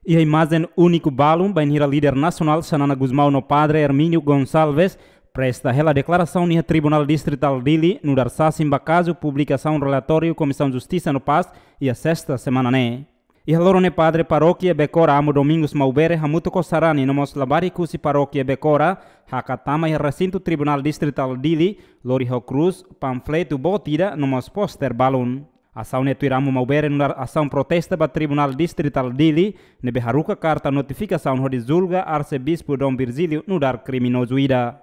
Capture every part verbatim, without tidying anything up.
Iha imajen úniku balun, bainhira líder nasionál Xanana Gusmão no Padre Hermínio Gonçalves presta hela deklarasaun iha Tribunál Distritál Dili, nu'udar sasin ba kazu publikasaun relatóriu Komisaun Justisa no Pás iha sesta semana ne'e. Iha loron ne'e Padre Parókia Becora Amu Domingos Maubere hamutuk ho sarani no mós labarik husi Parókia Becora hakat tama iha resintu Tribunál Distritál Dili, lori ho krús, panfletu boot ida no mós póster balun. Asaun ne'e tuir Amu Maubere nu'udar asaun protesta ba Tribunál Distritál Dili, ne'ebé haruka karta notifikasaun hodi julga Arsebispu Dom Virgílio nu'udar kriminozu ida.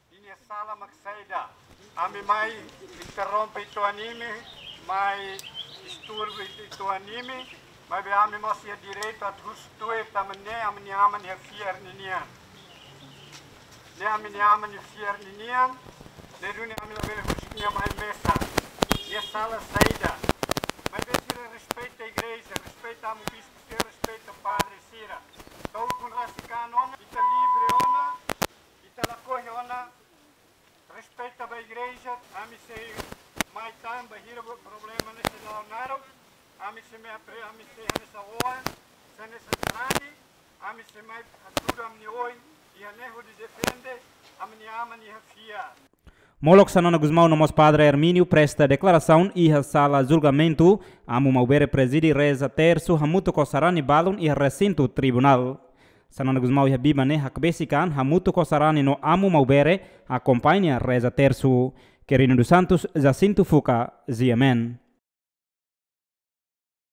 Ninia sala mak saida? Ami mai interrompe ita-nia imi, mai disturbu ita-nia imi, maibé ami mós iha direitu atu husu tuir tanba ne'e ami-nia aman iha fiar ninian. Ne'e ami-nia aman iha fiar ninian, ne'e duni ami labele husik nia mai mesak. Nia sala saida? Maibé sira respeita igreja, respeita Amu Bispu, sira respeita padre sira. Entaun, kun rasik an ona, ita livre ona, ita lakohi ona, respeita ba igreja, ami sei mai tan bainhira problema ne'e sei la'o naruk, ami sei mai apre, ami sei hanesan oan, sei hanesan sarani, ami sei mai ajuda ami-nia oin, iha ne'e hodi defende ami-nia aman iha fiar. Molok Xanana Gusmão no mós Padre Hermínio presta deklarasaun iha sala julgamentu, Amu Maubere prezide reza tersu hamutuk ho sarani balun iha resintu tribunál. Xanana Gusmão iha biban ne'e hakbesik an hamutuk ho sarani no Amu Maubere akompaña reza tersu. Quirino dos Santos, Jacinto Fuca, G M N.